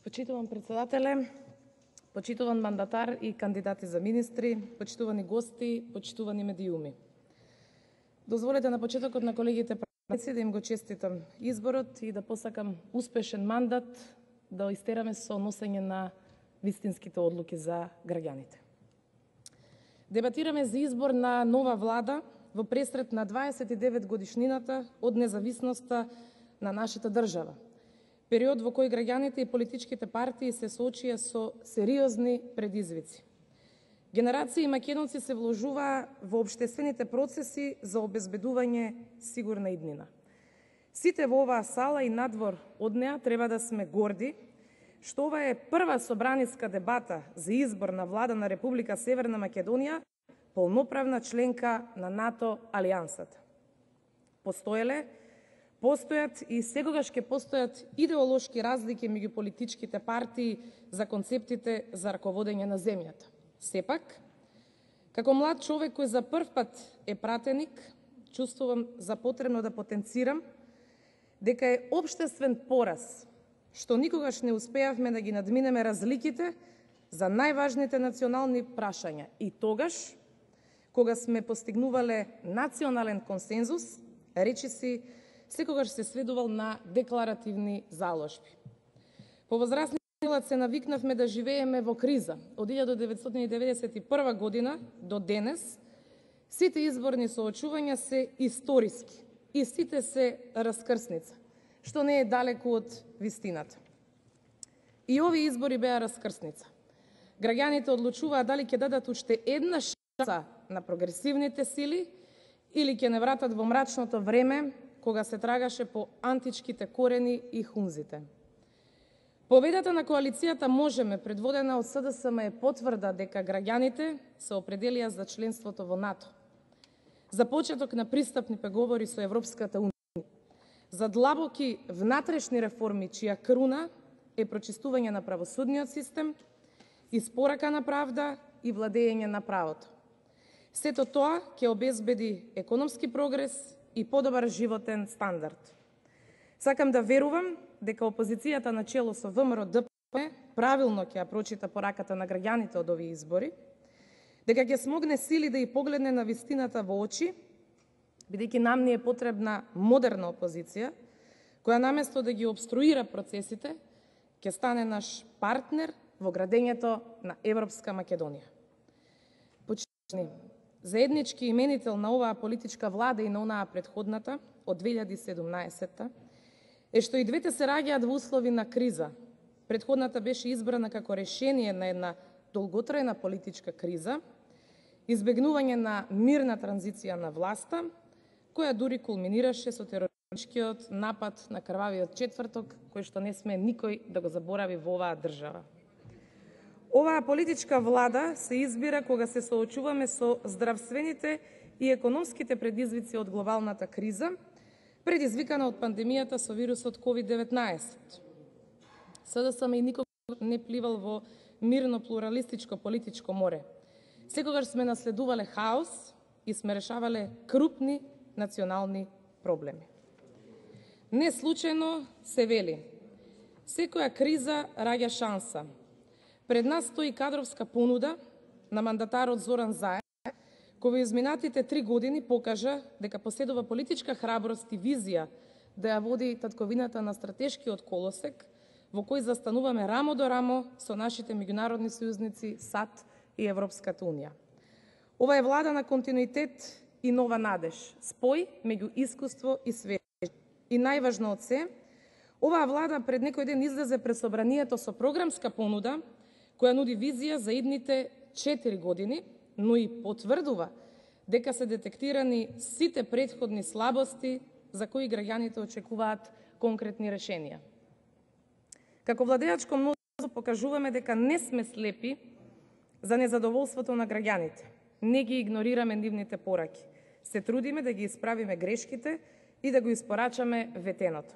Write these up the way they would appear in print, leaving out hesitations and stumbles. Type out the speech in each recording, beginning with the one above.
Почитуван председателе, почитуван мандатар и кандидати за министри, почитувани гости, почитувани медиуми. Дозволете на почетокот на колегите пратници да им го честитам изборот и да посакам успешен мандат да истераме со носење на вистинските одлуки за граѓаните. Дебатираме за избор на нова влада во пресрет на 29 годишнината од независноста на нашата држава. Период во кој граѓаните и политичките партии се соочија со сериозни предизвици. Генерации македонци се вложуваа во општествените процеси за обезбедување сигурна иднина. Сите во оваа сала и надвор од неа треба да сме горди што ова е прва собраниска дебата за избор на влада на Република Северна Македонија, полноправна членка на НАТО алијансата. Постојат и секогаш ќе постојат идеолошки разлики меѓу политичките партии за концептите за раководење на земјата. Сепак, како млад човек кој за прв пат е пратеник, чувствувам за потребно да потенцирам дека е општествен пораз што никогаш не успеавме да ги надминеме разликите за најважните национални прашања и тогаш, кога сме постигнувале национален консензус, речиси секогаш се сведувал на декларативни заложби. Повозрасни се навикнавме да живееме во криза. Од 1991 година до денес сите изборни соочувања се историски и сите се раскрсница, што не е далеку од вистината. И овие избори беа раскрсница. Граѓаните одлучуваа дали ќе дадат уште една шанса на прогресивните сили или ќе не вратат во мрачното време кога се трагаше по античките корени и хунзите. Победата на коалицијата Можеме, предводена од СДСМ, е потврда дека граѓаните се определија за членството во НАТО, за почеток на пристапни преговори со Европската унија, за длабоки внатрешни реформи чија круна е прочистување на правосудниот систем, испорака на правда и владење на правото. Сето тоа ќе обезбеди економски прогрес и подобар животен стандард. Сакам да верувам дека опозицијата на чело со ВМРО ДПМН правилно ќе ја прочита пораката на граѓаните од овие избори, дека ќе смогне сили да ја погледне на вистината во очи, бидејќи нам ни е потребна модерна опозиција, која наместо да ги обструира процесите, ќе стане наш партнер во градењето на Европска Македонија. Почитувани, заеднички именител на оваа политичка влада и на онаа претходната, од 2017 е што и двете се раѓаат во услови на криза. Претходната беше избрана како решение на една долготрајна политичка криза, избегнување на мирна транзиција на власта, која дури кулминираше со терористичкиот напад на крвавиот четврток, кој што не сме никој да го заборави во оваа држава. Оваа политичка влада се избира кога се соочуваме со здравствените и економските предизвици од глобалната криза, предизвикана од пандемијата со вирусот COVID-19. СДСМ и никога не пливал во мирно плуралистичко политичко море. Секогаш сме наследувале хаос и сме решавале крупни национални проблеми. Не случајно се вели: секоја криза раѓа шанса. Пред нас стои кадровска понуда на мандатарот Зоран Заев, кој во изминатите 3 години покажа дека поседува политичка храброст и визија да ја води татковината на стратешкиот колосек, во кој застануваме рамо до рамо со нашите меѓународни сојузници САД и Европската унија. Ова е влада на континуитет и нова надеж, спој меѓу искуство и свежест. И најважно од се, оваа влада пред некој ден излезе пред собранието со програмска понуда која нуди визија за идните 4 години, но и потврдува дека се детектирани сите претходни слабости за кои граѓаните очекуваат конкретни решенија. Како владеачко мнозинство покажуваме дека не сме слепи за незадоволството на граѓаните. Не ги игнорираме нивните пораки. Се трудиме да ги исправиме грешките и да го испорачаме ветеното.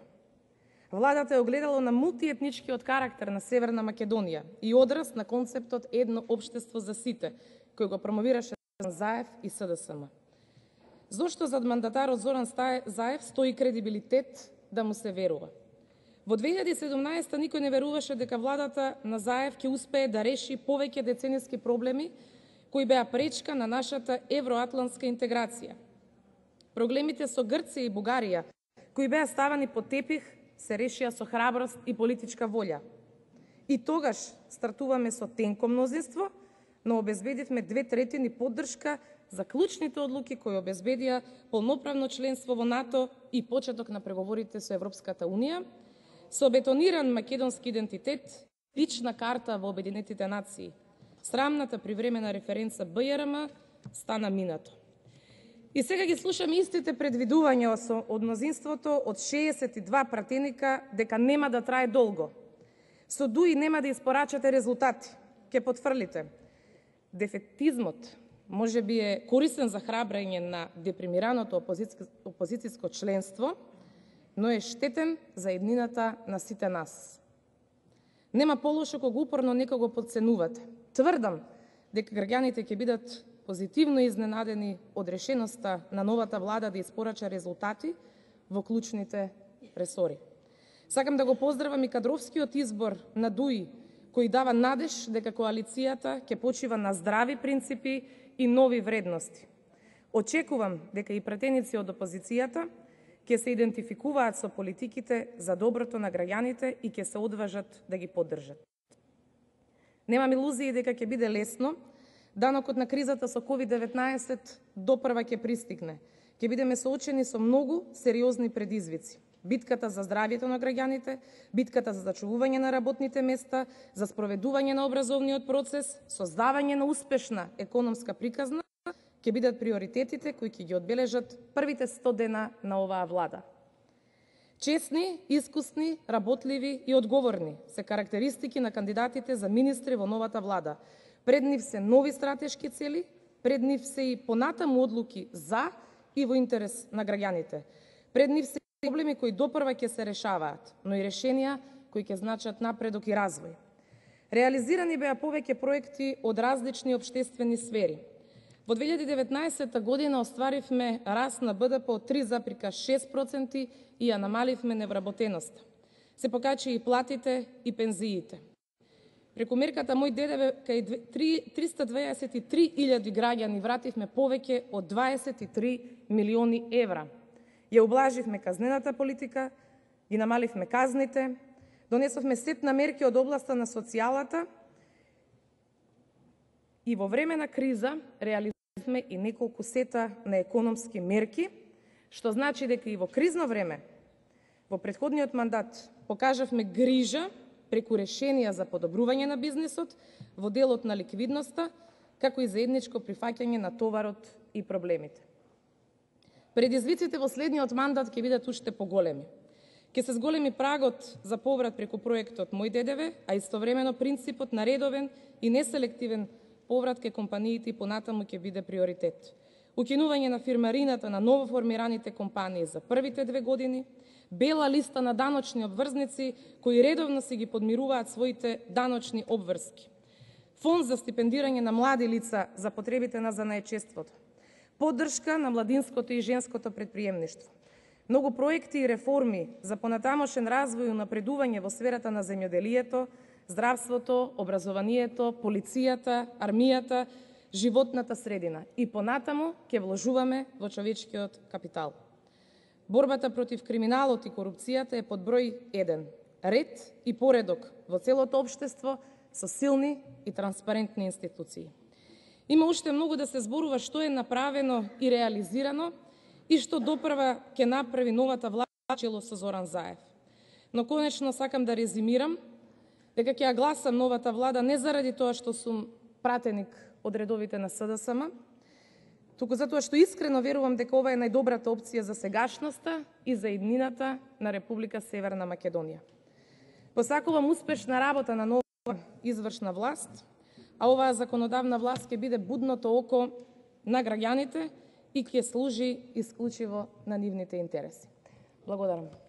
Владата е огледало на мултиетничкиот карактер на Северна Македонија и одраз на концептот едно општество за сите, кој го промовираше Заев и СДСМ. Зошто зад мандатарот Зоран Заев стои кредибилитет да му се верува? Во 2017 никој не веруваше дека владата на Заев ќе успее да реши повеќе деценијски проблеми кои беа пречка на нашата евроатлантска интеграција. Проблемите со Грција и Бугарија, кои беа ставани под тепих, се решија со храброст и политичка волја. И тогаш стартуваме со тенко мнозинство, но обезбедивме 2/3 поддршка за клучните одлуки кои обезбедија полноправно членство во НАТО и почеток на преговорите со Европската Унија, со бетониран македонски идентитет, лична карта во Обединетите нации. Срамната привремена референца БЈРМ стана минато. И сега ги слушаме истите предвидувања од мнозинството од 62 пратеника дека нема да трае долго. Со ДУИ нема да испорачате резултати, ќе потврлите. Дефетизмот може би е корисен за храбрење на депримираното опозицијско членство, но е штетен за еднината на сите нас. Нема полошо кога упорно некого подценувате. Тврдам дека граѓаните ќе бидат позитивно изненадени од решеноста на новата влада да испорача резултати во клучните ресори. Сакам да го поздравам и кадровскиот избор на ДУИ, кој дава надеж дека коалицијата ќе почива на здрави принципи и нови вредности. Очекувам дека и пратеници од опозицијата ќе се идентификуваат со политиките за доброто на граѓаните и ќе се одважат да ги поддржат. Немам илузии дека ќе биде лесно. Данокот на кризата со COVID-19 допрва ќе пристигне. Ќе бидеме соочени со многу сериозни предизвици. Битката за здравјето на граѓаните, битката за зачувување на работните места, за спроведување на образовниот процес, создавање на успешна економска приказна, ќе бидат приоритетите кои ќе ги одбележат првите 100 дена на оваа влада. Честни, искусни, работливи и одговорни се карактеристики на кандидатите за министри во новата влада. Пред нив се нови стратешки цели, пред нив се и понатаму одлуки за и во интерес на граѓаните. Пред нив се проблеми кои допрва ќе се решаваат, но и решенија кои ќе значат напредок и развој. Реализирани беа повеќе проекти од различни општествени сфери. Во 2019 година остваривме раст на БДП од 3,6% и ја намаливме невработеноста. Се покачи и платите и пензиите. Преку мерката Мој ДДВ кај 323.000 граѓани вративме повеќе од 23 милиони евра. Ја ублаживме казнената политика, ги намаливме казните, донесовме сет на мерки од областа на социјалата и во време на криза реализираме и неколку сета на економски мерки, што значи дека и во кризно време, во претходниот мандат, покажавме грижа преку решенија за подобрување на бизнисот во делот на ликвидноста, како и заедничко прифаќање на товарот и проблемите. Предизвиците во следниот мандат ќе бидат уште поголеми. Ќе се зголеми прагот за поврат преку проектот Мој ДДВ, а истовремено принципот на редовен и неселективен поврат кај компаниите и понатаму ќе биде приоритет. Укинување на фирмарината на новоформираните компании за првите 2 години, бела листа на даночни обврзници кои редовно си ги подмируваат своите даночни обврски, фонд за стипендирање на млади лица за потребите на занаетчеството, поддршка на младинското и женското предприемништво, многу проекти и реформи за понатамошен развој и унапредување во сферата на земјоделието, здравството, образованието, полицијата, армијата, животната средина и понатаму ќе вложуваме во човечкиот капитал. Борбата против криминалот и корупцијата е под број 1. Ред и поредок во целото општество со силни и транспарентни институции. Има уште многу да се зборува што е направено и реализирано и што допрва ќе направи новата влада чело со Зоран Заев. Но конечно сакам да резимирам дека ќе ја гласам новата влада не заради тоа што сум пратеник од редовите на СДСМ, туку затоа што искрено верувам дека ова е најдобрата опција за сегашноста и за иднината на Република Северна Македонија. Посакувам успешна работа на нова извршна власт, а оваа законодавна власт ќе биде будното око на граѓаните и ќе служи исклучиво на нивните интереси. Благодарам.